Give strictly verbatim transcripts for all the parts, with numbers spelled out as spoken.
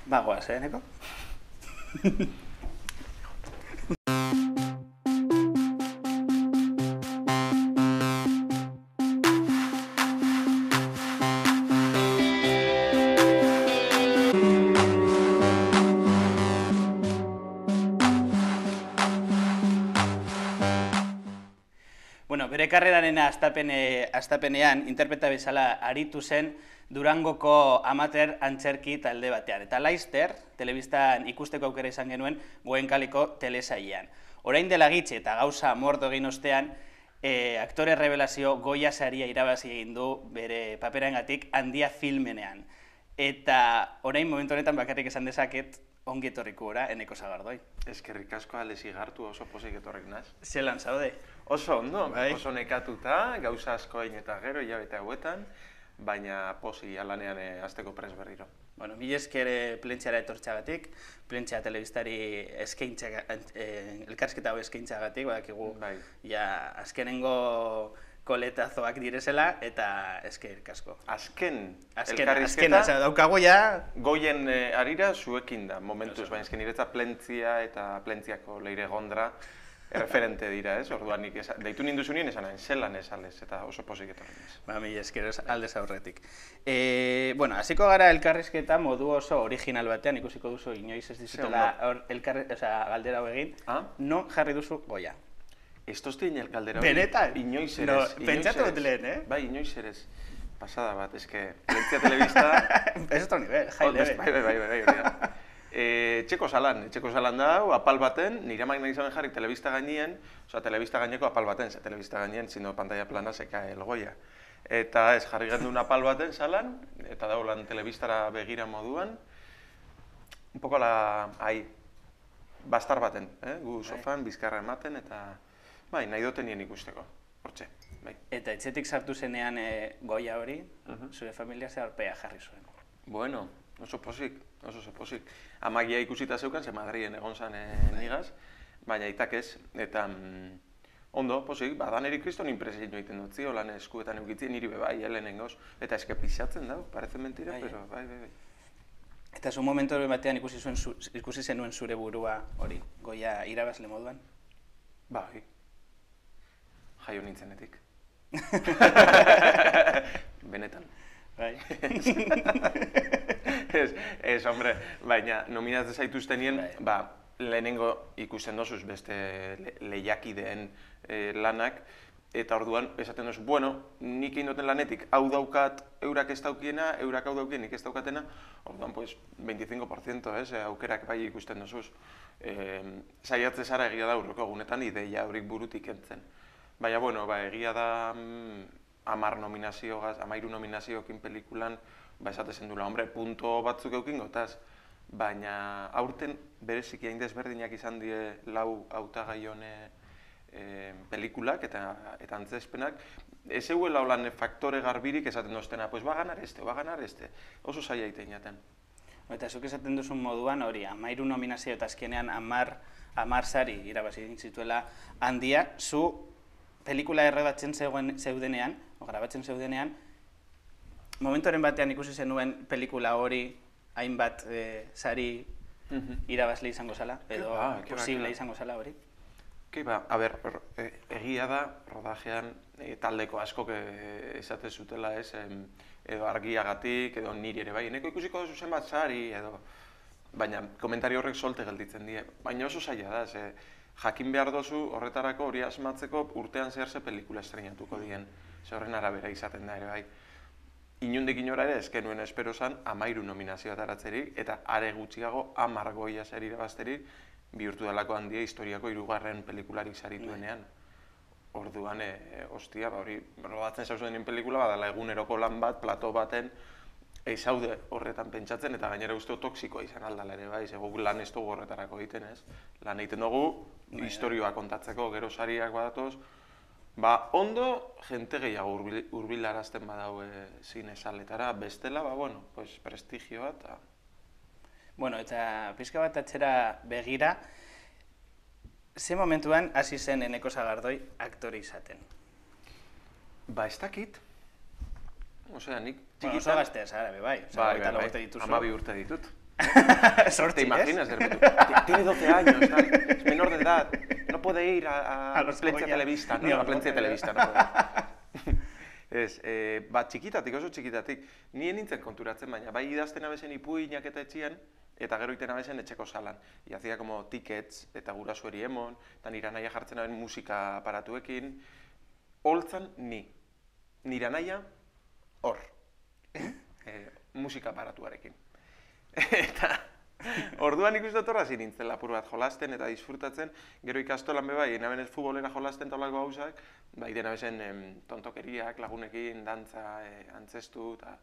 Bagoaz, eh, neko? Bueno, bere karreraren astapenean interpreta bezala aritu zen Durangoko amateur antzerki talde batean. Eta Laster, telebistan ikusteko aukera izan genuen Goenkaliko telesailean. Orain dela gitxi eta gauza mordo egin ostean, aktore revelazio Goya saria irabazi egin du bere paperengatik Handia filmenean. Eta orain momentu honetan bakarrik esan dezaket ongi etorriku gora, Eneko Sagardoi. Eskerrik asko alezi gartu oso pozik etorrik naz. Zelan zaude? Oso ondo, oso nekatuta, gauza asko egin eta gero, hilabete hauetan, baina posi alanean azteko pres berriro. Bueno, mila esker plentxara etortxagatik, plentxa telebistari elkarsketa hau eskaintzagatik, badakigu azkenengo koletazoak direzela, eta eskerrik asko. Azken elkarrizketa? Azken, daukago ja... Goien arira zuekin da, momentuz, baina esken niretza plentzia eta plentziako leire gondra referente dira, ez? Orduan nik deitu ninduzu nien esan hain, zelan esalez, eta oso pozik etorren ez. Ba, mila esker aldez aurretik. Bueno, hasiko gara elkarrizketa modu oso original batean, ikusiko duzu inoiz ez dizutela galdera hau egin, non jarri duzu Goya? Ez tozti inoiz galdera hau benetan? Inoiz erez. Pentsatu dut lehen, eh? Bai, inoiz erez. Pasada bat, eske, Plentzia Telebista... Ez otro nivel, jai lebe. Bai, bai, bai, bai, bai. Etxeko salan, etxeko salan da, apal baten, nire amak nahi zaben jarri telebista gainien, oza, telebista gaineko apal baten, ze telebista gainien, zino pantalla plana seka el Goya. Eta ez jarri gendun apal baten salan, eta daulan telebistara begira moduan, un poco la, ahi, bastar baten, gu sofan, bizkarra ematen, eta, bai, nahi duten nien ikusteko, hortxe, bai. Eta etxetik sartu zenean Goya hori, zure familia ze arpea jarri zuen? Bueno, oso pozik, oso oso pozik. Amagia ikusita zeukan, ze Madrien egon zan nigaz, baina aitak ez, eta ondo, pozik, badan erik kriston impresio egiten dut, ziolan eskuetan eukitzien niri bebai, helenengoz, eta eske pixatzen dau, parece mentira, pero bai, bai, bai. Eta zu momentu batean ikusi zenuen zure burua hori, Goya irabazle moduan? Bai, jaio nintzenetik. Benetan. Bai. Ez, hombre, baina nominatzen zaituztenien, ba, lehenengo ikusten dozuz beste lehiakideen lanak, eta orduan esaten dozu, bueno, nik egin duten lanetik, hau daukat eurak ez daukiena, eurak hau daukien nik ez daukatena, orduan, pues, veinticinco por ciento, ez, aukerak bai ikusten dozuz. Saiatze zara egia da urroko egunetan ideia horik burutik entzen. Baina, bueno, ba, egia da amar nominazioagaz, amairu nominazioekin pelikulan, ba, esatezen dula, hombre, punto batzuk eukin gotaz, baina aurten bereziki hain desberdinak izan die lau hautagai hone pelikulak eta antzespenak, ez euela holan faktore garbirik esaten doztena, pues va ganar este, va ganar este, oso zaila iten jaten. Eta zuk esaten duzun moduan hori, amairu nominazio eta azkenean amar sari irabazi zituela Handia, zu pelikula errebatzen zeudenean, o grabatzen zeudenean, momentoren batean ikusi zenuen pelikula hori hainbat sari irabazle izango zala, edo posible izango zala hori? Ke ba, a ber, egia da, rodajean taldeko askok esate zutela ez, edo argiagatik, edo niri ere bai, eneko ikusiko duzu zenbat sari, edo, baina komentario horrek solte gelditzen die, baina oso zaila da, ze jakin behar dozu horretarako hori asmatzeko urtean zehar ze pelikula estrenatuko dien, ze horren arabera izaten da ere bai. Inundik inora ere, ezken nuen espero zan, amairu nominazioa taratzerik, eta are gutxiago amar Goya sari irabazterik, bihurtu dalako Handia historiako hirugarren pelikularik sarituenean. Orduan, ostia, hori, rodatzen zauzen pelikula, badala eguneroko lan bat, plato baten, ezaude horretan pentsatzen, eta gainera uste toksikoa izan aldala ere bai, ze guk lan ez dugu horretarako egiten, ez? Lan egiten dugu, historioa kontatzeko, gero sariak badatoz, ba, ondo, jente gehiago hurbilarazten badau zine saletara, bestela, ba, bueno, pues, prestigioa eta... Bueno, eta pixka bat atxera begira, ze momentuan hasi zen Eneko Sagardoi aktore izaten? Ba, ez dakit. Osea, nik txikitan... Bueno, oso gaztea zara, bai, bai, bai, bai, amabi urte ditut. Sorti, ¿Te imaginas? De repente, tiene doce años, tal, es menor de edad, no puede ir a, a, a Plentzia Telebista, no, a Plentzia Telebista, no puede. Ez, e, ba, txikitatik, oso txikitatik, nien nintzen konturatzen, baina bai idazten abezen ipuinak eta etxian, eta gero iten abezen etxeko salan. I hacía como tickets, eta gurasueri emon, eta nire naia jartzen aben musika aparatuekin, holtzan ni, nire naia hor, e, musika aparatuarekin. Eta orduan ikusten torra zin nintzen lapur bat jolasten eta disfrutatzen, gero ikastolan be bai, enaben ez futbolera jolasten talako gauzak, bai dena bezen em, tontokeriak, lagunekin, dantza, e, antzestu, eta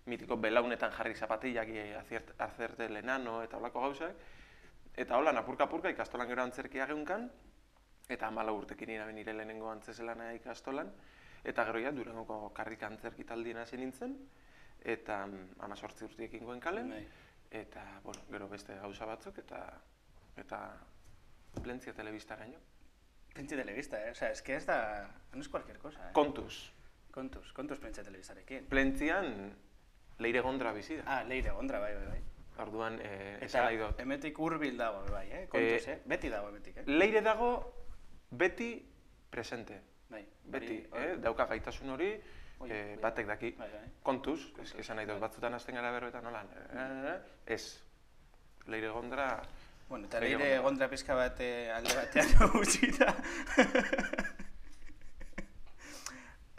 mitiko belaunetan jarri zapatillak, e, azerte lenano eta olako gauzak. Eta hola, apurka-apurka ikastolan gero antzerkia geunkan, eta hamala urtekin iraben nire lehenengo antzeselana ikastolan, eta gero ja, Durangoko karrika antzerki taldien hasi nintzen, eta hamazortzi urtiekin goen kalen, eta, bueno, gero beste gauza batzuk, eta, eta Plentzia Telebistaraino. Plentzia Telebista, eh? O sea, es que ez da, no es cualquier cosa, eh? Kontuz. Kontuz, kontuz Plentzia Telebistarekin. Plentzia Leire Gondra bizi da. Ah, Leire Gondra, bai, bai, bai. Orduan, eh, eta esan nahi dut. Emetik hurbil dago, bai, eh? Kontuz, eh? Beti dago emetik, eh? Leire dago beti presente. Bai. Beti, hori, eh? Dauka gaitasun hori, Oi, eh, bai. batek daki. Bai, bai. Kontuz, Kontuz. esan nahi dut, batzutan hasten gara berroetan nolan. Eh, ez. Leire Gondra... Bueno, eta Leire Gondra pizka bat eh, alde batean gutxita.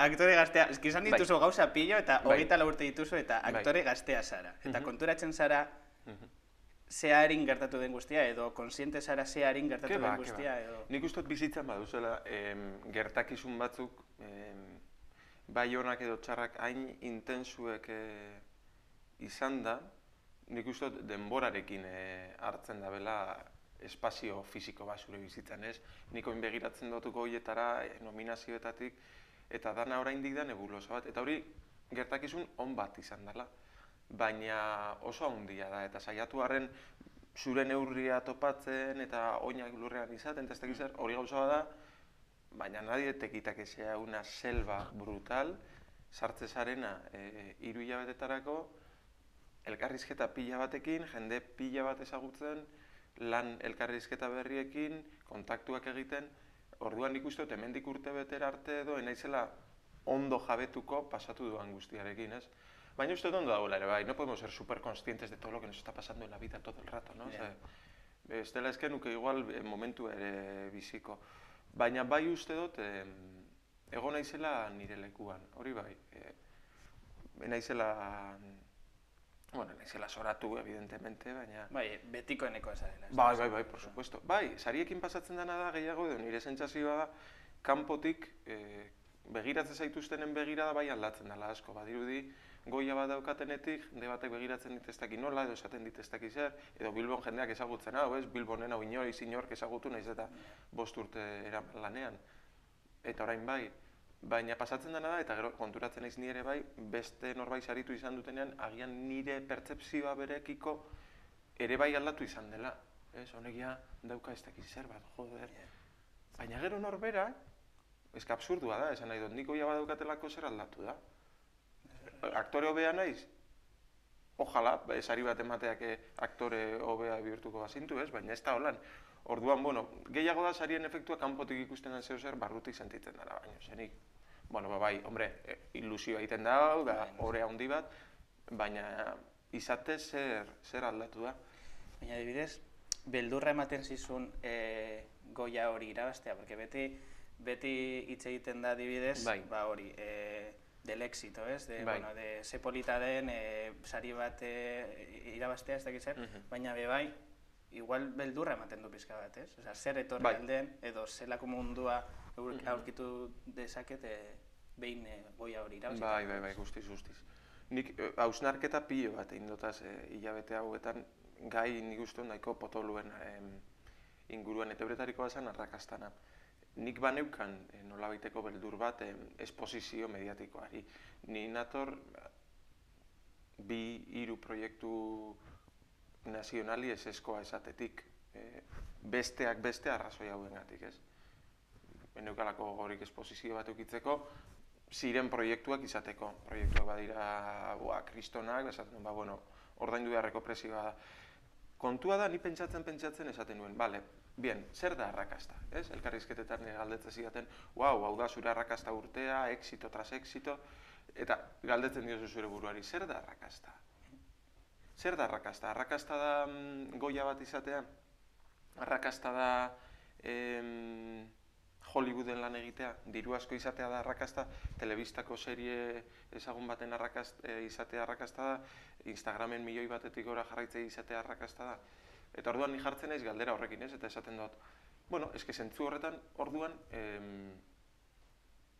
Aktore gaztea, eski izan dituzu gauza pilo eta hogeita lau urte dituzu eta aktore gaztea zara. Eta konturatzen zara ze harin gertatu den guztia edo konsiente zara ze harin gertatu den guztia edo... Nik uste dut bizitzan baduzela gertakizun batzuk bai honak edo txarrak hain intensuek izan da, nik uste dut denborarekin hartzen da bela espazio fisiko bat zure bizitzan, ez? Nik oin begiratzen dutuko horietara nominazioetatik eta dana oraindik da nebulosa bat, eta hori gertakizun on bat izan dela, baina oso handia da, eta saiatu harren zure neurria topatzen eta oinak lurrean izaten, eta ez dakiz hori gauza da, baina nadie te quita que sea una selva brutal, sartze zarena hiru hilabetetarako, elkarrizketa pila batekin, jende pila bat ezagutzen, lan elkarrizketa berriekin, kontaktuak egiten, orduan nik uste dut hemendik urte betera arte edo enaizela ondo jabetuko pasatu duan guztiarekin, ez? Baina uste dut ondo dagoela ere bai, no podemos ser super conscientes de todo lo que nos está pasando en la vida todo el rato, no? Ez dela ezken nuke igual momentu ere biziko. Baina bai uste dut ego naizela nire lekuan, hori bai. Naizela... Bueno, naizela soratu, evidentemente, baina... Bai, betiko eneko eza dela. Bai, bai, bai, por supuesto. Bai, sariekin pasatzen dena da gehiago, edo nire sentsazioa da, kanpotik begiratzen zaituztenen begirada bai aldatzen dela asko. Badirudi, goia bat daukatenetik, jende batek begiratzen dit ez daki nola, edo esaten dit ez daki zer, edo Bilbon jendeak ezagutzen hau, ez? Bilbonen hau inoriz inork ezagutu naiz eta bost urte eraman lanean. Eta orain bai, baina pasatzen dena da, eta gero konturatzen naiz ni ere bai, beste norbait saritu izan dutenean, agian nire pertzepzioa berekiko ere bai aldatu izan dela. Ez, honekia dauka ez dakiz zer bat, joder. Baina gero norbera, ez ka absurdua da, esan nahi dut, niko ja badaukatelako zer aldatu da. Aktore hobea naiz? Ojalá, sari bat emateak aktore hobea bihurtuko bazintu, ez? Baina ez da holan. Orduan, bueno, gehiago da sarien efektua kanpotik ikusten den zeo zer barrutik sentitzen dara, baina zenik. Bueno, bai, hombre, ilusioa egiten da, da, hore handi bat, baina izate zer, zer aldatu da. Baina, adibidez, beldurra ematen zizun e, goia hori irabaztea, porque beti, beti hitz egiten da adibidez, bai. Ba hori, e, del éxito, ez? De, bai. Bueno, de ze polita den, e, sari bat e, irabaztea, ez dakiz zer, uh -huh. Baina be bai, igual beldurra ematen du pizka bat, ez? Osea, zer etorri bai. Alden, edo zelako mundua aurkitu dezakete behin e, goia hori irabazita. Bai, bai, bai, guztiz, guztiz. Nik hausnarketa pilo bat egin dutaz e, hilabete hauetan, gai nik uste nahiko potoluen e, inguruan, eta euretarikoa zen arrakastana. Nik baneukan e, nolabaiteko beldur bat e, esposizio mediatikoari. Ni nator bi hiru proiektu nazionali eseskoa esatetik, e, besteak beste arrazoi hauengatik, ez? Beneukalako gorik esposizio bat eukitzeko, ziren proiektuak izateko. Proiektuak badira, boa, kristonak, esaten, ba, bueno, ordaindu beharreko prezioa da. Kontua da, ni pentsatzen pentsatzen esaten nuen, bale, bien, zer da arrakasta, ez? Elkarrizketetan galdetzen zidaten, wow, hau da zure arrakasta urtea, exito tras exito, eta galdetzen diozu zure buruari, zer da arrakasta? Zer da arrakasta? Arrakasta da mm, goia bat izatea? Arrakasta da em, Hollywooden lan egitea? Diru asko izatea da arrakasta? Telebistako serie ezagun baten arrakast, e, izatea arrakasta da? Instagramen milioi batetik gora jarraitzea izatea arrakasta da? Eta orduan ni jartzen naiz galdera horrekin, ez? Eta esaten dut, bueno, eske zentzu horretan orduan, em,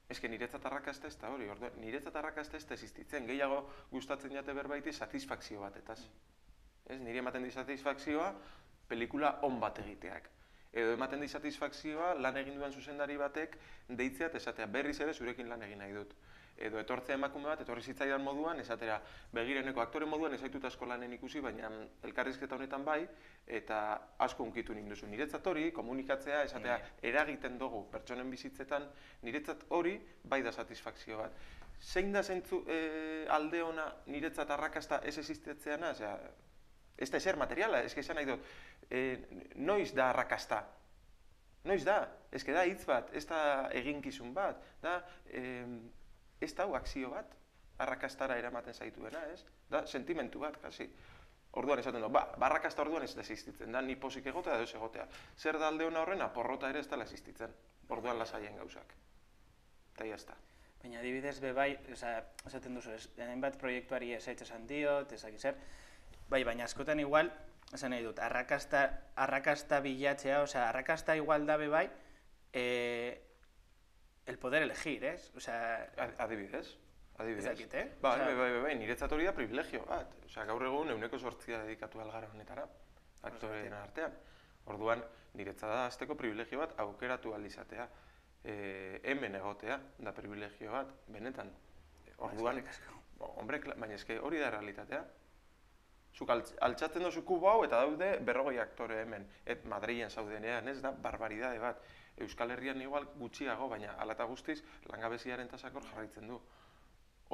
eske niretzat arrakasta ez da hori, orduan, niretzat arrakasta ez da existitzen, gehiago gustatzen jate berbaiti satisfakzio batetaz. Ez, nire ematen di satisfakzioa pelikula on bat egiteak. Edo ematen di satisfakzioa lan egin duen zuzendari batek deitzea eta esatea berriz ere zurekin lan egin nahi dut. Edo etortzea emakume bat, etorri zitzaidan moduan, esatera begireneko aktore moduan ez zaitut asko lanen ikusi, baina elkarrizketa honetan bai, eta asko hunkitu ninduzu. Niretzat hori, komunikatzea, esatea eragiten dugu pertsonen bizitzetan, niretzat hori bai da satisfakzio bat. Zein da zentzu e, alde ona niretzat arrakasta ez existetzeana? Osea, ez da ezer materiala, ez esan nahi dut, e, noiz da arrakasta? Noiz da? Ez da hitz bat, ez da eginkizun bat, da e, ez da akzio bat, arrakastara eramaten zaituena, ez? Da sentimentu bat, kasi. Orduan esaten dut, ba, arrakasta orduan ez da existitzen, da ni pozik egotea edo ez egotea. Zer da alde hona horrena, porrota ere ez da existitzen, orduan lasaien gauzak. Eta jazta. Baina adibidez be bai, esaten duzu, hainbat proiektuari esaitz esan diot, ezak zer, bai, baina askotan igual, esan nahi dut, arrakasta, arrakasta bilatzea, osea, arrakasta igual da be bai, eh, el poder elegir, ez? Osea, adibidez, adibidez. Ezakit, eh? Bai, bai, bai, bai, niretzat hori da privilegio bat. Osea, gaur egun euneko sortzia dedikatu algara honetara, aktoreen artean. Orduan, niretzat da azteko privilegio bat aukeratu alizatea. E, hemen egotea da privilegio bat, benetan. Orduan, hombre, baina eske hori da realitatea. Zuk altxatzen dozu kubo hau eta daude berrogei aktore hemen. Et Madrilen zaudenean, ez da, barbaridade bat. Euskal Herrian igual gutxiago, baina hala eta guztiz langabeziaren tasakor jarraitzen du.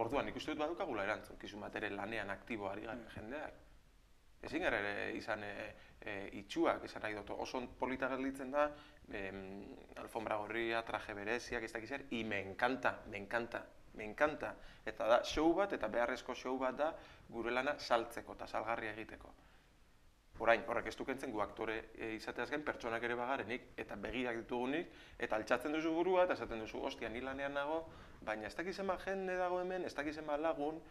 Orduan, ikusten dut badukagula erantzukizun bat ere lanean aktibo ari garen jendeak. Ezin gara ere izan e, e, itxuak, esan nahi dut, oso polita gelditzen da, e, alfombra gorria, traje bereziak, ez dakiz zer, y me encanta, me encanta, me encanta. Eta da, show bat, eta beharrezko show bat da, gure lana saltzeko eta salgarria egiteko. Orain, horrek ez dukentzen gu aktore e, izateaz gain pertsonak ere bagarenik, eta begiak ditugunik, eta altxatzen duzu burua, eta esaten duzu, ostia, ni lanean nago, baina ez dakiz ema jende dago hemen, ez dakiz ema lagun,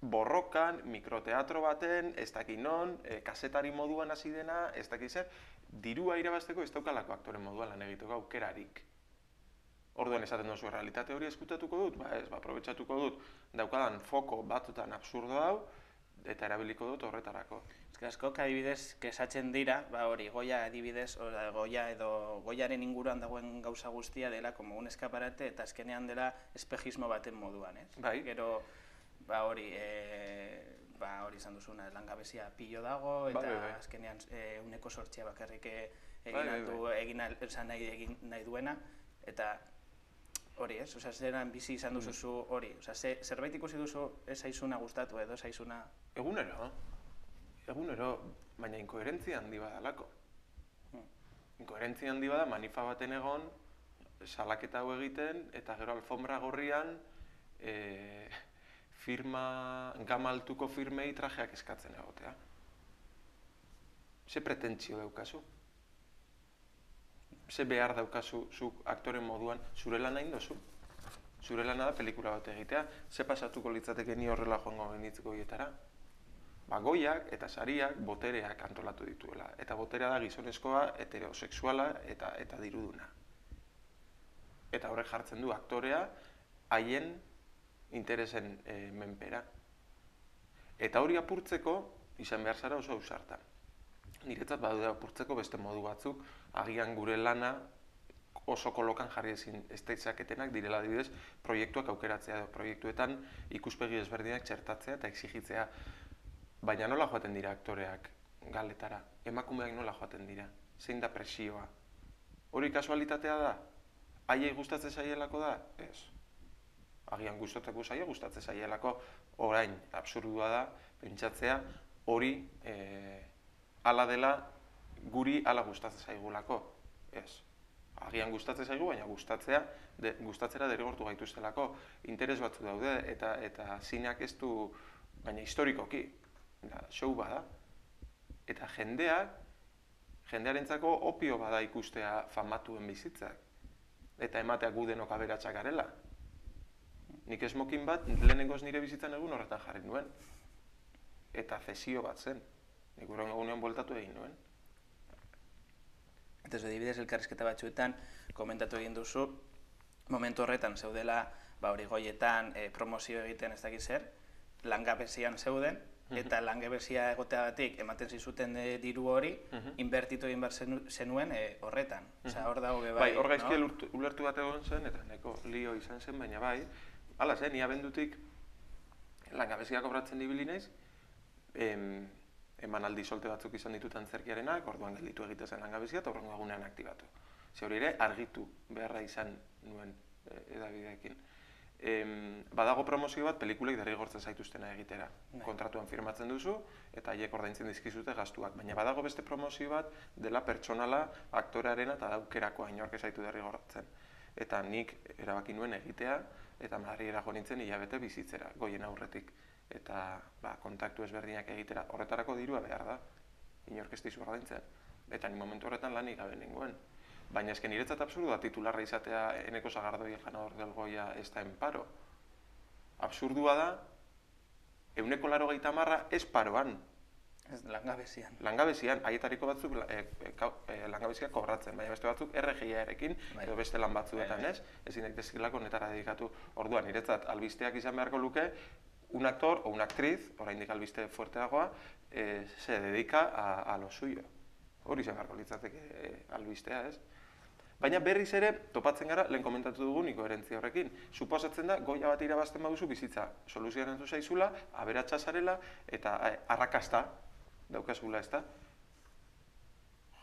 borrokan, mikroteatro baten, ez dakiz non, e, kasetari moduan hasi dena, ez dakiz zer, dirua irabazteko ez daukalako aktore moduan lan egiteko aukerarik. Orduan esaten duzu, realitate hori eskutatuko dut, ba ez, ba, aprobetxatuko dut, daukadan foko batzutan absurdo hau, eta erabiliko dut horretarako. Ez asko, adibidez, kesatzen dira, ba hori, Goya adibidez, oda, Goya edo Goyaren inguruan dagoen gauza guztia dela como un eskaparate eta azkenean dela espejismo baten moduan, ez? Bai. Gero, ba hori, e, ba hori izan duzuna, langabezia pilo dago, eta bai, bai. azkenean e, uneko sortzia bakarrik egin, bai, bai, aldu, bai. egin, al, nahi, egin nahi duena, eta hori, ez? Osea, zeran bizi izan duzuzu hori, osea, ze, zerbait ikusi duzu ez zaizuna gustatu edo zaizuna... Egunero, egunero, baina inkoherentzia handi badalako. Hmm. Inkoherentzia handi bada manifa baten egon, salaketa hau egiten, eta gero alfombra gorrian e, firma, gama altuko firmei trajeak eskatzen egotea. Ze pretentzio daukazu? Ze behar daukazu zuk aktoren moduan zure lana indozu? Zure lana da pelikula bat egitea, ze pasatuko litzateke ni horrela joango genditzeko hietara? Ba, Goiak eta sariak botereak antolatu dituela. Eta boterea da gizonezkoa, heterosexuala eta, eta diruduna. Eta horrek jartzen du aktorea haien interesen e, menpera. Eta hori apurtzeko izan behar zara oso ausarta. Niretzat badude apurtzeko beste modu batzuk, agian gure lana oso kolokan jarri ezin esteitzaketenak direla adibidez proiektuak aukeratzea edo proiektuetan ikuspegi ezberdinak txertatzea eta exigitzea. Baina nola joaten dira aktoreak galetara? Emakumeak nola joaten dira? Zein da presioa? Hori kasualitatea da? Haiei gustatzen zaielako da? Ez. Agian gustatzeko zaie gustatzen zaielako orain absurdua da pentsatzea hori hala dela guri hala gustatzen zaigulako. Ez. Agian gustatzen zaigu, baina gustatzea, de, gustatzera derrigortu gaituztelako. Interes batzu daude eta eta zineak ez du, baina historikoki, da, show bada. Eta jendeak, jendearentzako opio bada ikustea famatuen bizitzak. Eta ematea gu denok aberatsak garela. Nik smoking bat lehenengoz nire bizitzan egun horretan jarri nuen. Eta zesio bat zen. Nik urren egunean bueltatu egin nuen. Eta ez adibidez, elkarrizketa batzuetan komentatu egin duzu, momentu horretan zeudela, ba hori goietan e, promozio egiten ez dakit zer, langabezian zeuden, eta langabezia egoteagatik ematen zizuten e, diru hori, inbertitu egin behar zenuen e, horretan. Osea, hor dago be bai. Bai, hor gaizki no? ulertu bat egon zen, eta neko lio izan zen, baina bai, hala zen, ni abendutik langabezia kobratzen ibili naiz, em, emanaldi solte batzuk izan ditut antzerkiarenak, orduan gelditu egite zen langabezia eta horrengo egunean aktibatu. Ze hori ere argitu beharra izan nuen e, edabideekin. Em, badago promozio bat pelikulek derrigortzen zaituztena egitera. Kontratuan firmatzen duzu eta haiek ordaintzen dizkizute gastuak, baina badago beste promozio bat dela pertsonala, aktorearena eta daukerakoa inork ez zaitu derrigortzen. Eta nik erabaki nuen egitea eta Madrilera jo nintzen hilabete bizitzera, goien aurretik. Eta ba, kontaktu ezberdinak egitera horretarako dirua behar da, inork ez dizu ordaintzen. Eta ni momentu horretan lanik gabe nengoen. Baina esken niretzat absurdu da titularra izatea Eneko Sagardoi el ganador del Goya está en paro. Absurdua da, ehuneko laurogeita hamar ez paroan. Ez langabezian. Langabezian, haietariko batzuk e, e, e, langabezia kobratzen, baina beste batzuk R G I-arekin edo beste lan batzuetan, ez? Ezin daitezkeelako honetara dedikatu. Orduan, niretzat albisteak izan beharko luke, un actor o una actriz, oraindik albiste fuerteagoa, eh, se dedica a, a lo suyo. Hori izan beharko litzateke eh, albistea, ez? Baina berriz ere, topatzen gara, lehen komentatu dugun inkoherentzia horrekin. Suposatzen da, Goya bat irabazten baduzu bizitza soluzioan entu zaizula, aberatsa zarela, eta eh, arrakasta daukazula, ez da?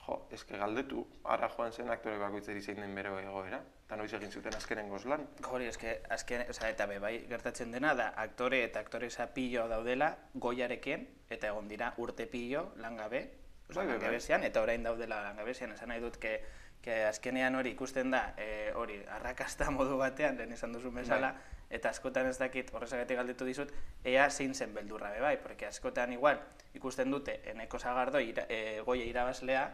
Jo, eske galdetu, ara joan zen aktore bakoitzeri zein den bere egoera, eta noiz egin zuten azkenengoz lan. Hori, eske, azken, oza, eta be, bai, gertatzen dena da, aktore eta aktoresa pillo daudela Goyarekin, eta egon dira urte pillo langabe, oza, bai, langabezian, bai. Eta orain daudela langabezian, esan nahi dut, que, que azkenean hori ikusten da, e, hori, arrakasta modu batean, lehen esan duzu bezala, bai. Eta askotan ez dakit, horrezagatik galdetu dizut, ea zein zen beldurra be bai, porque askotan igual ikusten dute Eneko Sagardoi ira, e, Goya irabazlea,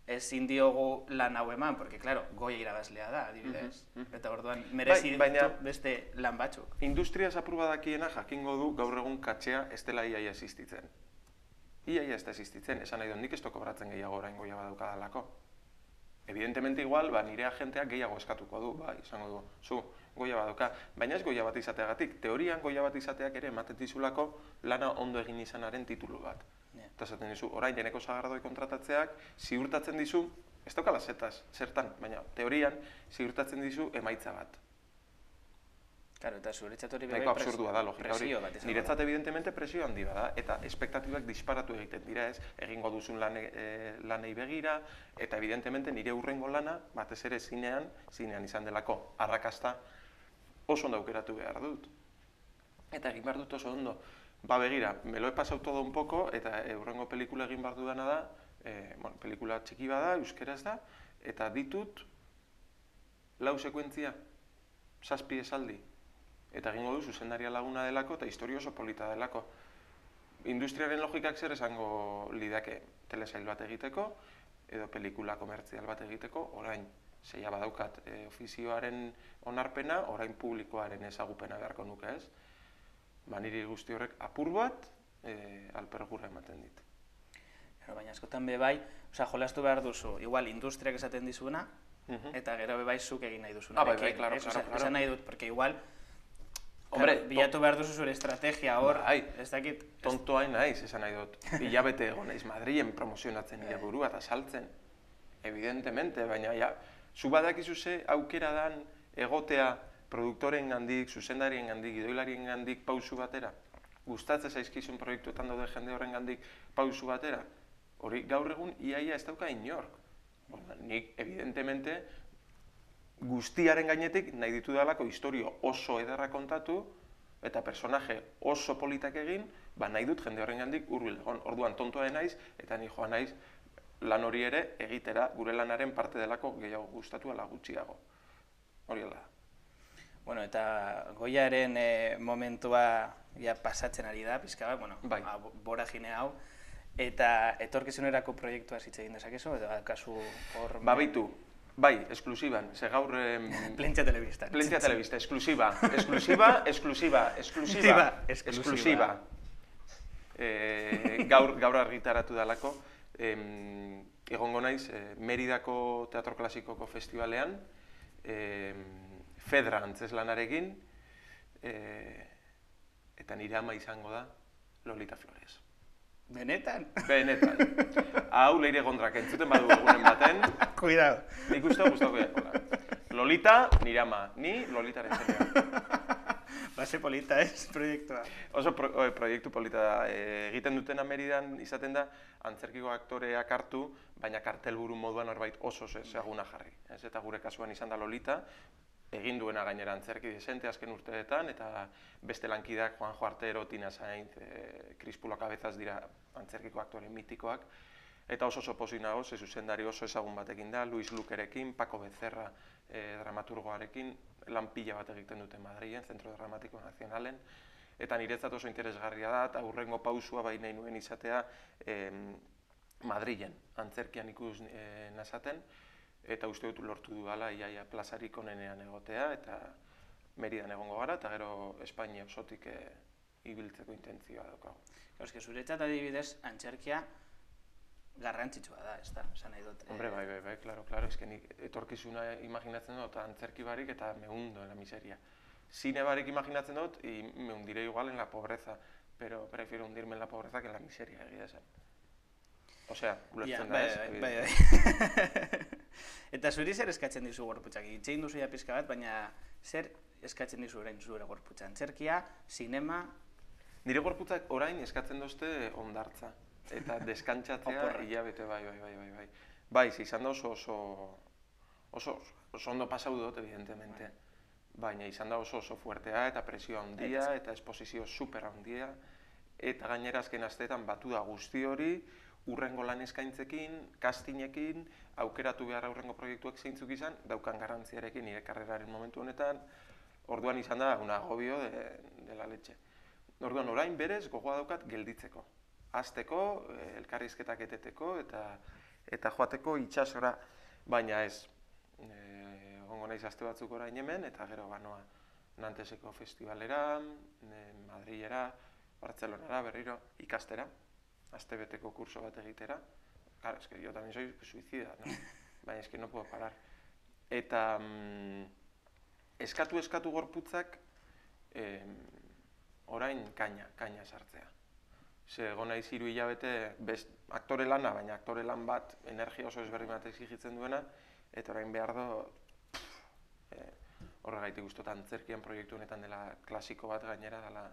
ezin diogu lan hau eman, porque, claro, Goya irabazlea da, adibidez. Uh -huh. Eta orduan, merezi bai, baina, beste lan batzuk. Industria zapurbadakiena jakingo du gaur egun katxea ez dela iaia existitzen. Iaia ez da existitzen, esan nahi dut nik ez kobratzen gehiago orain Goya badaukadalako. Evidentemente igual, ba, nire agenteak gehiago eskatuko du, bai, izango du, zu, Goya badauka. Baina ez Goya bat izateagatik, teorian Goya bat izateak ere ematen dizulako lana ondo egin izanaren titulu bat. Eta esaten dizu, orain Eneko Sagardoi kontratatzeak ziurtatzen dizu, ez daukala zetaz, zertan, baina teorian ziurtatzen dizu emaitza bat. Claro, eta zuretzat hori bai absurdua da, logika hori. Niretzat evidentemente presio handi bada, eta espektatibak disparatu egiten dira ez, egingo duzun lane, e, lanei begira, eta evidentemente nire hurrengo lana, batez ere zinean, zinean izan delako arrakasta oso ondo aukeratu behar dut. Eta egin behar dut oso ondo. Ba begira, me lo he pasado todo un poco, eta hurrengo pelikula egin behar dudana da, e, bueno, pelikula txiki bada, euskeraz da, eta ditut lau sekuentzia, zazpi esaldi. Eta egingo du zuzendaria laguna delako eta historia oso polita delako. Industriaren logikak zer esango lidake telesail bat egiteko edo pelikula komertzial bat egiteko, orain zeia badaukat e, ofizioaren onarpena, orain publikoaren ezagupena beharko nuke ez. Ba, niri guzti horrek apur bat e, alpergura ematen dit. Baina askotan be bai, osea, jolastu behar duzu, igual industriak esaten dizuena, uh-huh. Eta gero be bai zuk egin nahi duzuna. Ah, bai, bai, claro, claro, claro. Esan nahi dut, porque igual Hombre, claro, bilatu behar duzu zure estrategia hor, bai, ez dakit... Tontoa naiz, esan nahi dut. Hilabete egon naiz Madrilen promozionatzen nire burua eta saltzen. Evidentemente, baina ja, zu badakizu ze aukera dan egotea produktoren gandik, zuzendarien gandik, gidoilarien gandik pausu batera. Gustatzen zaizkizun proiektuetan daude jende horren gandik pausu batera. Hori gaur egun iaia ez dauka inork. Nik, evidentemente, guztiaren gainetik nahi ditu dalako historio oso ederra kontatu, eta personaje oso politak egin, ba nahi dut jende horren gandik hurbil egon. Orduan tontoa naiz, eta ni joan naiz lan hori ere egitera gure lanaren parte delako gehiago gustatu ala gutxiago. Hori da. Bueno, eta Goiaren e, momentua ja pasatzen ari da, pizka bat, bueno, bai. Boragine hau, eta etorkizunerako proiektua hitz egin dezakezu, edo kasu hor... Ba, beitu, bai, esklusiban, ze gaur... Eh, Plentzia Telebista. Plentzia Telebista, esklusiba, esklusiba, esklusiba, esklusiba, esklusiba. Eh, gaur, gaur argitaratu dalako, eh, egongo naiz, eh, Meridako Teatro Klasikoko Festivalean, eh, Fedra antzeslanarekin, eh, eta nire ama izango da Lolita Flores. Benetan? Benetan. Hau leire gondrak entzuten badu egunen baten. Cuidado. Nik uste gustatuko da. Lolita, nire ama. Ni Lolitaren zenea. Base polita ez, proiektua. Oso pro, o, proiektu polita da. E, egiten dutena Meridan izaten da, antzerkiko aktoreak hartu, baina kartelburu moduan horbait oso ezaguna jarri. Ez? Eta gure kasuan izan da Lolita, egin duena gainera antzerki desente azken urteetan, eta beste lankideak Juanjo Artero, Tina Sainz, e, Crispulo Cabezas dira antzerkiko aktore mitikoak, eta oso oso pozik nago, ze zuzendari oso ezagun batekin da, Luis Lukerekin, Paco Becerra e, dramaturgoarekin, lan pila bat egiten dute Madrilen, Centro Dramático Nazionalen, eta niretzat oso interesgarria da, eta hurrengo pausua bai nahi nuen izatea e, Madrilen, antzerkian ikus e, nazaten, eta uste dut lortu dudala iaia plazarik onenean egotea, eta Meridan egongo gara, eta gero Espainia osotik e, ibiltzeko intentzioa daukagu. Euske, zuretzat adibidez, antzerkia garrantzitsua da, ez da, esan nahi dut. Hombre, bai, bai, bai, klaro, klaro, ez nik etorkizuna imaginatzen dut, antzerki barik eta me hundo en la miseria. Zine barik imaginatzen dut, y me hundiré igual en la pobreza, pero prefiero hundirme en la pobreza que en la miseria, egia esan. Osea, ulertzen da ez. Bai, bai, bai. Eta zuri zer eskatzen dizu gorputzak? Itxein duzu ja pizka bat, baina zer eskatzen dizu orain zure gorputza? Antzerkia, sinema... Nire gorputzak orain eskatzen dozte ondartza. Eta deskantzatzea hilabete, bai, bai, bai, bai, bai. Bai, izan da oso oso... Oso, oso ondo pasau dut, evidentemente. Baina izan da oso oso fuertea eta presio handia eta esposizio super handia. Eta gainera azken asteetan batu da guzti hori, urrengo lan eskaintzekin, castingekin, aukeratu behar aurrengo proiektuak zeintzuk izan, daukan garrantziarekin nire karreraren momentu honetan, orduan izan da un agobio de, de la leche. Orduan orain berez gogoa daukat gelditzeko. Hasteko, elkarrizketak eteteko eta eta joateko itsasora, baina ez. Egongo naiz aste batzuk orain hemen eta gero banoa Nanteseko festivalera, Madrilera, Bartzelonara berriro ikastera. Astebeteko kurso bat egitera. Claro, es que yo también soy suicida, ¿no? Baina, es que no puedo parar. Eta mm, eskatu eskatu gorputzak eh, orain kaina, kaina sartzea. Ze egon naiz hiru hilabete best aktore lana, baina aktore lan bat energia oso ezberdin bat exigitzen duena, eta orain behar do eh, horregaitik gustotan antzerkian proiektu honetan dela klasiko bat gainera dela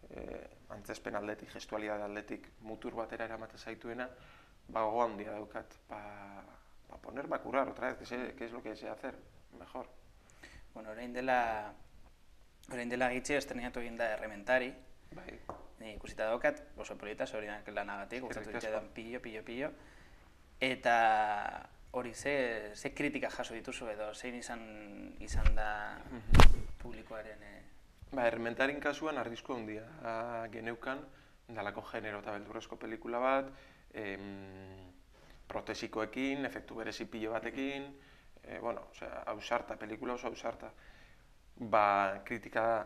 Eh, antzespen aldetik, gestualidade aldetik mutur batera eramate zaituena, ba gogo handia daukat, pa, pa ponerme a curar otra vez, que, sé, que es lo que sé hacer, mejor. Bueno, orain dela, orain dela gitxe estrenatu egin da Errementari, bai. Ni ikusita daukat, oso polita, zorinak lanagatik, gustatu ditzetan pillo, pillo, pillo, eta hori ze, ze kritika jaso dituzu edo, zein izan, izan da publikoaren... Eh, Ba, Errementarin kasuan arrisku handia geneukan, dalako genero eta beldurrezko pelikula bat, em, protesikoekin, efektu berezi pilo batekin, e, bueno, osea, ausarta, pelikula oso ausarta. Ba, kritika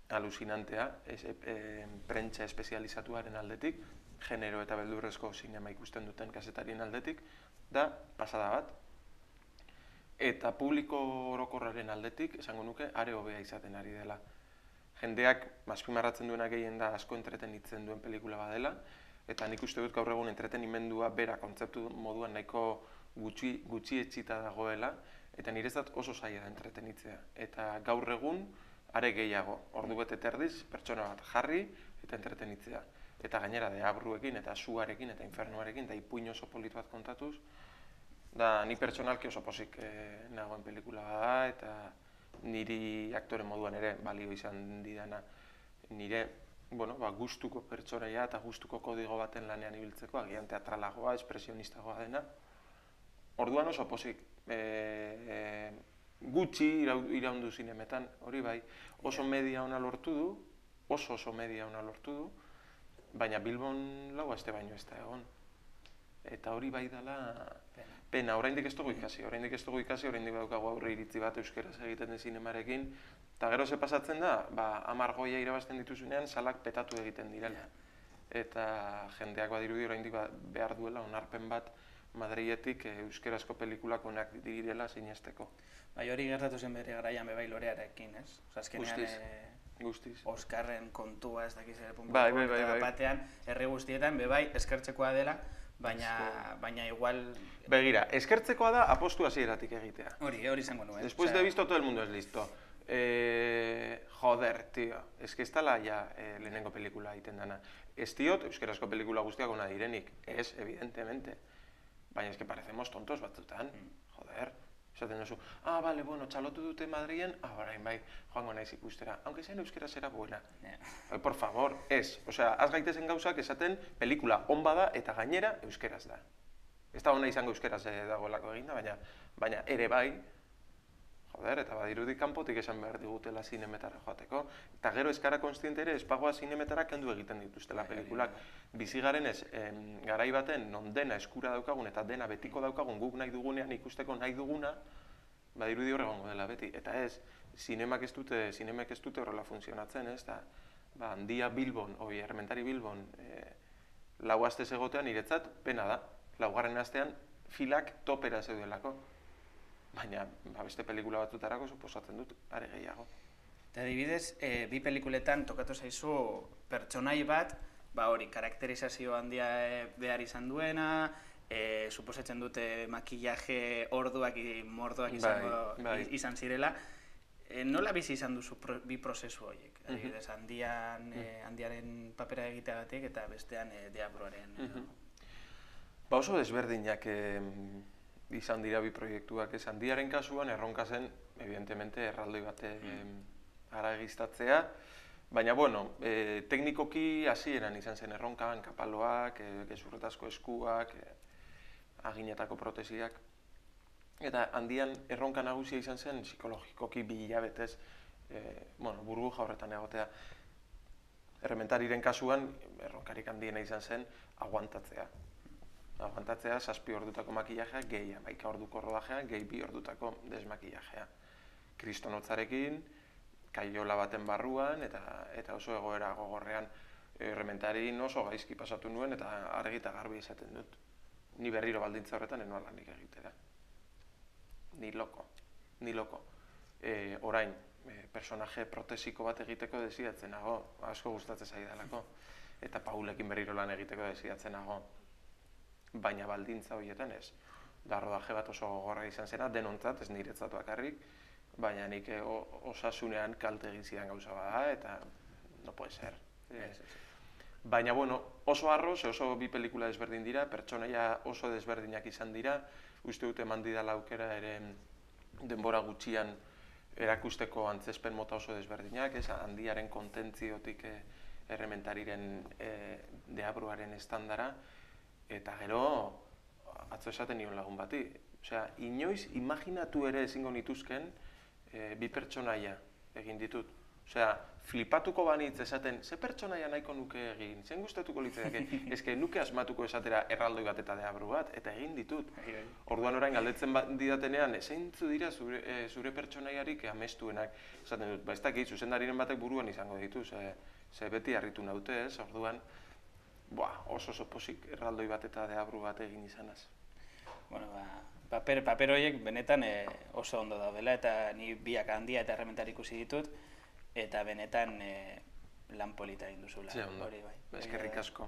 alucinantea, es, e, prentsa espezializatuaren aldetik, genero eta beldurrezko sinema ikusten duten kazetarien aldetik, da pasada bat. Eta publiko orokorraren aldetik, esango nuke, are hobea izaten ari dela. Jendeak azpimarratzen duena gehien da asko entretenitzen duen pelikula badela, eta nik uste dut gaur egun entretenimendua bera kontzeptu moduan nahiko gutxi, gutxi etxita dagoela, eta niretzat oso zaila da entretenitzea. Eta gaur egun are gehiago, ordu bete terdiz, pertsona bat jarri eta entretenitzea. Eta gainera deabruekin eta suarekin eta infernuarekin, eta ipuin oso polit bat kontatuz, da ni pertsonalki oso pozik eh, nagoen pelikula da, eta niri aktore moduan ere balio izan didana. Nire, bueno, ba, gustuko pertsonaia eta gustuko kodigo baten lanean ibiltzeko, agian teatralagoa, espresionistagoa dena. Orduan oso pozik, e, e, gutxi iraundu zinemetan, hori bai, oso media ona lortu du, oso oso media ona lortu du, baina Bilbon lau aste baino ez da egon. Eta hori bai dela pena, oraindik ez dugu ikasi, oraindik ez dugu ikasi, oraindik daukagu aurre iritzi bat euskeraz egiten den zinemarekin, eta gero ze pasatzen da, ba, hamar goia irabazten dituzunean salak petatu egiten direla. Eta jendeak badirudi oraindik behar duela onarpen bat Madriletik euskerazko pelikulak onak direla sinesteko. Bai, hori gertatu zen bere garaian bebai lorearekin, ez? Azkenean Guztiz. Oskarren kontua ez dakiz ere puntu batean, herri guztietan bebai eskertzekoa dela, baina igual... Begira, eskertzekoa da apostu hasieratik egitea. Hori, hori izango nuen. Después de visto todo el mundo es listo. Joder, tío, es que ez dela ja lehenengo pelikula egiten dana. Ez diot, euskerazko pelikula guztiak ona direnik, ez, evidentemente. Baina es que parecemos tontos batzutan, joder. Esaten duzu, ah, vale, bueno, txalotu dute Madrilen, ah, orain bai, joango naiz ikustera. Aunque sean euskera zera buena. Por favor, ez. Osea, az gaitezen gauzak esaten pelikula on bada eta gainera euskeraz da. Ez da ona izango euskeraz dagoelako eginda, baina ere bai, joder, eta badirudi kanpotik esan behar digutela zinemetara joateko. Eta gero eskara konstiente ere, espagoa zinemetara kendu egiten dituztela pelikulak. Bizigaren ez, garai baten, non dena eskura daukagun eta dena betiko daukagun guk nahi dugunean ikusteko nahi duguna, badirudi horregongo dela beti. Eta ez, zinemak ez dute, zinemek ez dute horrela funtzionatzen, ez, eta handia Bilbon, oi, Errementari Bilbon, lau astez egotean niretzat pena da. Laugarren astean filak topera zeudelako. Baina beste pelikula batzutarako suposatzen dut, are gehiago. Eta adibidez, bi pelikuletan tokatu zaizu pertsonai bat, ba hori, karakterizazio handia behar izan duena, suposatzen dute makillaje orduak, mordoak izan zirela. Nola bizi izan duzu bi prozesu horiek? Adibidez, handiaren papera egiteagatik eta bestean deabruaren. Ba oso desberdinak izan dira bi proiektuak, ez handiaren kasuan erronka zen, evidentemente, erraldoi bate haragiztatzea, baina, bueno, teknikoki hasieran izan zen erronkan, kapaloak, gezurretazko eskuak, aginetako protesiak, eta handian erronka nagusia izan zen psikologikoki bi hilabetez, bueno, burbuja horretan egotea. Errementariren kasuan, erronkarik handiena izan zen aguantatzea. Aguantatzea, zazpi ordutako makillajea, gehi hamaika orduko rodajea, gehi bi ordutako desmakillajea. Kristonotzarekin, kaiola baten barruan, eta oso egoera gogorrean Errementarin oso gaizki pasatu nuen, eta argi eta garbi esaten dut. Ni berriro baldintza horretan enoa lanik egitera. Ni loko, ni loko. Orain, personaje protesiko bat egiteko desiatzen nago, asko gustatzen zaidalako. Eta Paulekin berriro lan egiteko desiatzen nago. Baina baldintza horietan ez. Da rodaje bat oso gogorra izan zena, denontzat, ez niretzat bakarrik, baina nik osasunean kalte egin zidan gauza bada, eta no puede ser. Baina, bueno, oso arro, ze oso bi pelikula desberdin dira, pertsonaia oso desberdinak izan dira, uste dute eman didala aukera ere denbora gutxian erakusteko antzespen mota oso desberdinak, ez handiaren kontentziotik Errementariren deabruaren estandara, eta gero, atzo esaten nion lagun bati. Osea, inoiz imaginatu ere ezingo nituzken bi pertsonaia egin ditut. Osea, flipatuko banitz esaten, ze pertsonaia nahiko nuke egin, zen gustatuko litzaiake, eske nuke asmatuko esatera erraldoi bat eta deabru bat, eta egin ditut. Orduan orain galdetzen didatenean, zeintzu dira zure pertsonaiarik amestuenak. Esaten dut, ba ez dakit, zuzendariren batek buruan izango ditu, ze beti harritu naute ez, orduan, oso oso posik erraldoi bat eta deabru bat egin izanaz. Bueno, ba, paper horiek benetan oso ondo daudela, eta ni biak handia eta Errementari ikusi ditut, eta benetan lan polita egin duzula. Ze ondo, eskerrik asko.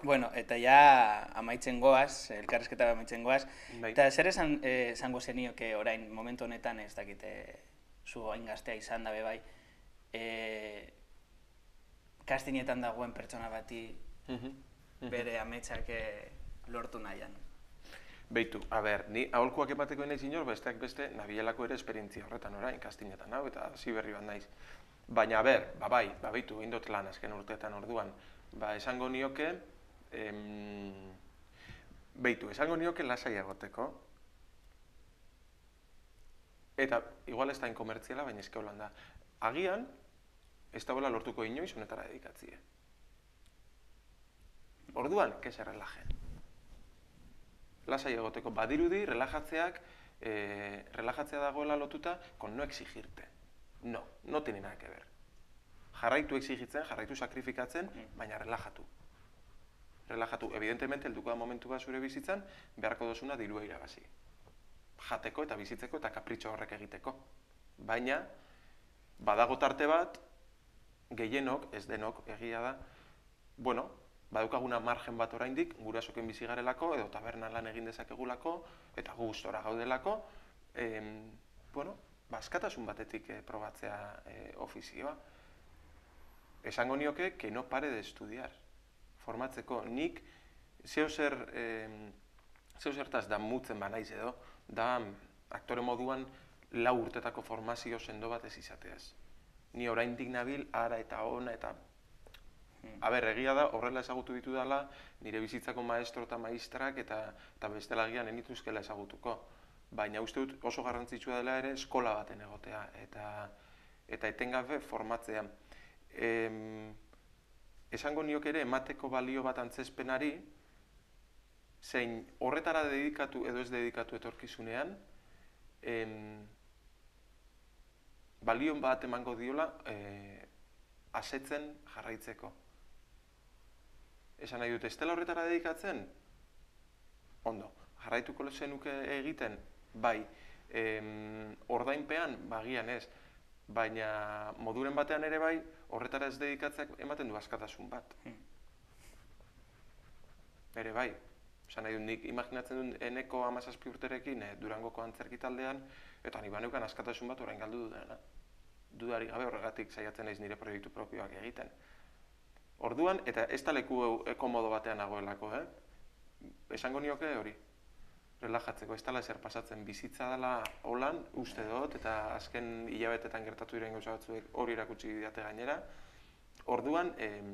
Bueno, eta ja amaitzen goaz, elkarrizketa amaitzen goaz, eta zer esango zenioke orain momentu honetan, ez dakite, zu hain gaztea izan da bebai, kastinetan dagoen pertsona bati bere ametsak lortu nahian. Beitu, a ber, ni aholkuak emateko naiz inor, besteak beste, nabielako ere esperientzia horretan orain, kastinetan hau, eta hasi berri bat naiz. Baina, a ber, ba bai, ba beitu, egin dut lan azken urteetan orduan, ba esango nioke, em, beitu, esango nioke lasai egoteko, eta igual ez da inkomertziala, baina eske holan da. Agian, ez da lortuko inoiz honetara dedikatzie. Orduan, que se relaje. Lasai egoteko badirudi, relajatzeak, eh, relajatzea dagoela lotuta con no exigirte. No, no tiene nada que ver. Jarraitu exigitzen, jarraitu sakrifikatzen, baina relajatu. Relajatu, evidentemente, helduko da momentu bat zure bizitzan, beharko dozuna dirua irabazi. Jateko eta bizitzeko eta kapritxo horrek egiteko. Baina, badago tarte bat, gehienok, ez denok, egia da, bueno, badaukaguna margen bat oraindik, gurasoken bizi garelako, edo tabernan lan egin dezakegulako, eta gustora gaudelako, em, bueno, askatasun batetik eh, probatzea eh, ofizioa. Esango nioke, que no pare de estudiar. Formatzeko, nik zeo zer, eh, zeo zertaz da mutzen banaiz edo, da aktore moduan lau urtetako formazio sendo bat ez izateaz. Ni oraindik nabil, ara eta ona eta A ber, egia da, horrela ezagutu ditu dela, nire bizitzako maestro eta maistrak eta, eta bestelagian enituzkela ezagutuko. Baina uste dut oso garrantzitsua dela ere eskola baten egotea eta, eta etengabe formatzea. Em, esango niok ere emateko balio bat antzezpenari, zein horretara dedikatu edo ez dedikatu etorkizunean, em, balio bat emango diola e, asetzen jarraitzeko. Esan nahi dut, ez dela horretara dedikatzen? Ondo, jarraituko zenuke egiten, bai, em, ordainpean, bagian ez, baina moduren batean ere bai, horretara ez dedikatzeak ematen du askatasun bat. Ere bai, esan nahi dut, nik imaginatzen dut eneko hamazazpi urterekin eh, Durangoko antzerki taldean, eta ni baneukan askatasun bat orain galdu dudana. Dudari gabe horregatik saiatzen naiz nire proiektu propioak egiten. Orduan, eta ez da leku komodo batean nagoelako, eh? Esango nioke hori, relajatzeko, ez dela ezer pasatzen, bizitza dela holan, uste dut, eta azken hilabetetan gertatu diren gauza batzuek hori erakutsi didate gainera. Orduan, em,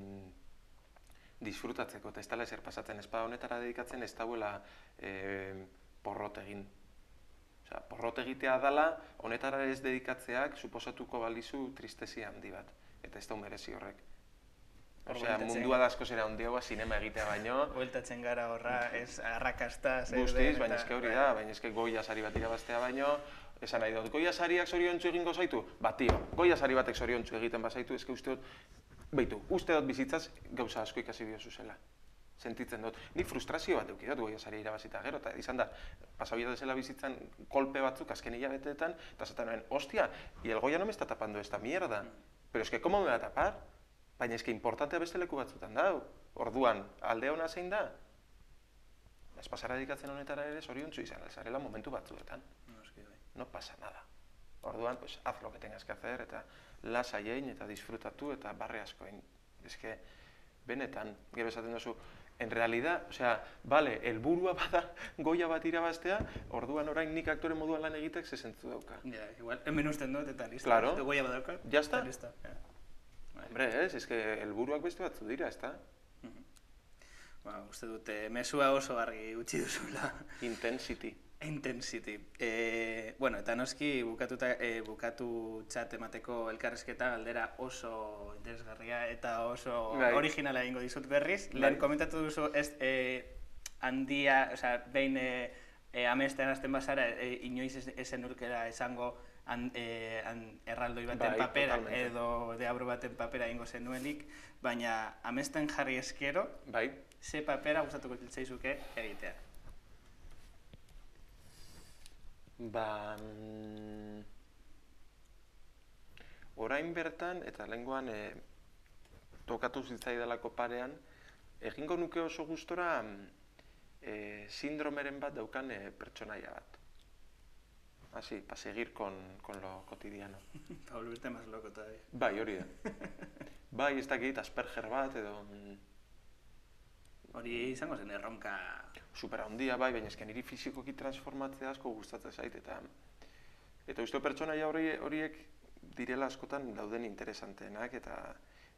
disfrutatzeko, eta ez dela ezer pasatzen, espada honetara dedikatzen ez dauela em, porrot egin. Osea, porrot egitea dela, honetara ez dedikatzeak suposatuko balizu tristezia handi bat, eta ez da merezi horrek. Osea, mundua da asko zera handiagoa sinema egitea baino. Bueltatzen gara horra, ez arrakasta. Guztiz, baina eske hori da, baina eske Goya sari bat irabaztea baino, esan nahi dut, Goya sariak zoriontsu egingo zaitu? Ba, tio, Goya sari batek zoriontsu egiten bazaitu, eske uste dut, beitu, uste dut bizitzaz gauza asko ikasi biozu zela. Sentitzen dut. Nik frustrazio bat eukidot Goya saria irabazita gero, eta izan da, pasabia desela bizitzan kolpe batzuk azken hilabeteetan, eta zaten nuen, hostia, y el Goya no me está tapando esta mierda. Pero es que, ¿cómo me va a tapar? Baina eske importantea beste leku batzutan dau. Orduan, alde hona zein da? Ez pasara dedikatzen honetara ere zoriontsu izan alzarela momentu batzuetan. No pasa nada. Orduan, pues, haz lo que tengas que hacer, eta lasai egin eta disfrutatu eta barre asko egin. Ez que, benetan, gero esaten duzu, en realidad, o sea, vale, helburua bada Goya bat irabaztea, orduan orain nik aktore moduan lan egitek zezentzu dauka. Ja, igual, hemen usten dut eta listo. Claro. Goya bat dauka. Ya está. Listo. Hombre, ez, ez que helburuak beste batzu dira, ez da? Ba, uste dute, mesua oso argi utzi duzula. Intensity. Intensity. E, bueno, eta noski bukatuta, e, bukatu txat emateko elkarrezketa galdera oso interesgarria eta oso Bai. originala egingo dizut berriz. Bai. Lehen komentatu duzu, ez e, handia, oza, behin e, e, amesten azten bazara, e, inoiz esen urkera esango an, e, an, erraldoi baten Bai, papera totalmente. edo deabro baten papera egingo zenuenik, baina amesten jarri eskero, Bai. ze papera gustatuko zitzaizuke egitea? Ba... Mm, orain bertan, eta lehengoan e, tokatu zitzaidalako parean, egingo nuke oso gustora e, sindromeren bat daukan e, pertsonaia bat. Así, para seguir con, con lo cotidiano. Para volverte más loco todavía. Bai, hori da. Bai, ez dakit, Asperger bat, edo... Hori izango zen erronka... Supera handia bai, baina ezken niri fizikoki transformatzea asko gustatzen zait, eta eta uste pertsonaia horiek direla askotan dauden interesanteenak, eta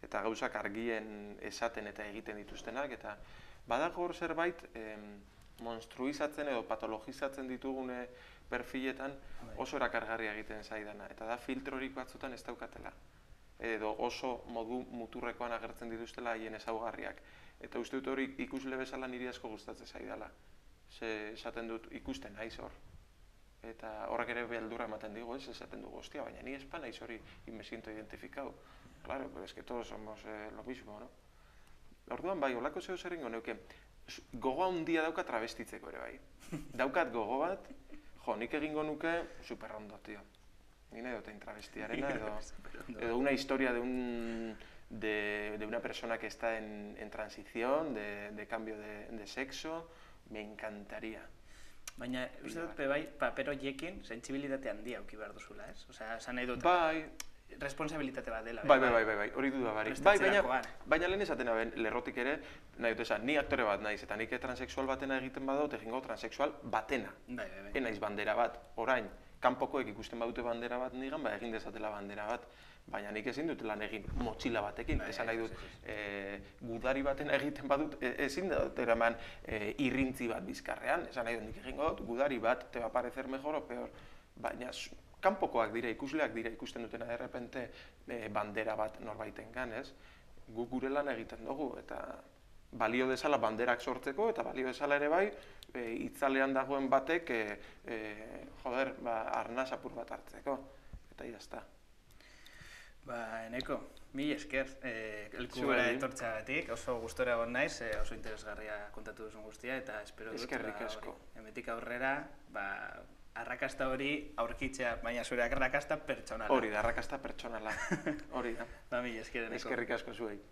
eta gauzak argien esaten eta egiten dituztenak, eta badago hor zerbait monstruizatzen edo patologizatzen ditugune perfiletan oso erakargarria egiten zaidana, eta da filtrorik batzutan ez daukatela, edo oso modu muturrekoan agertzen dituztela haien ezaugarriak. Eta uste dut hori ikusle bezala niri asko gustatzen zaidala. Ze esaten dut ikusten naiz hor. Eta horrek ere beldurra ematen digu, ez esaten dugu, hostia, baina ni espa naiz hori y me siento identificado. Claro, pero es que todos somos eh, lo mismo, no? Orduan bai, holako zeo zer ingo neuke, gogo handia dauka travestitzeko ere bai. Daukat gogo bat, jo, nik egingo nuke super ondo, tío. Ni nahi dut travestiarena edo, edo una historia de un... De, de una persona que está en, en transición, de, de cambio de, de sexo, me encantaría. Baina, uste dut, bai, paper horiekin sentsibilitate handia auki behar duzula, ez? Osea, esan nahi dut, bai, responsabilitate bat dela. Bai, bai, bai, bai, bai, hori duda barik. Bai, baina, baina lehen esaten aben, lerrotik ere, nahi dut esan, ni aktore bat naiz, eta nik transexual batena egiten badut, egingo transexual batena. Bai, bai, bai. Enaiz bandera bat, orain, kanpokoek ikusten badute bandera bat nigan, ba egin dezatela bandera bat. Baina nik ezin dut lan egin motxila batekin, esan nahi dut, gudari baten egiten badut, ezin dut eraman irrintzi bat bizkarrean, esan nahi dut nik egingo dut, gudari bat, te va parecer mejor o peor, baina kanpokoak dira, ikusleak dira ikusten dutena de repente bandera bat norbaiten gan, ez? Guk gure lan egiten dugu, eta balio dezala banderak sortzeko, eta balio dezala ere bai, itzalean dagoen batek, joder, arnaz apur bat hartzeko, eta jazta. Ba, Eneko, mil esker, elkugara etortzagatik, oso gustora egon naiz, oso interesgarria kontatu duzun guztia, eta espero dut, eskerrik asko. Hemetik aurrera, arrakasta hori aurkitzea, baina zure arrakasta pertsonala. Hori da, arrakasta pertsonala, hori da. Ba, mil esker, Eneko. Eskerrik asko zuei.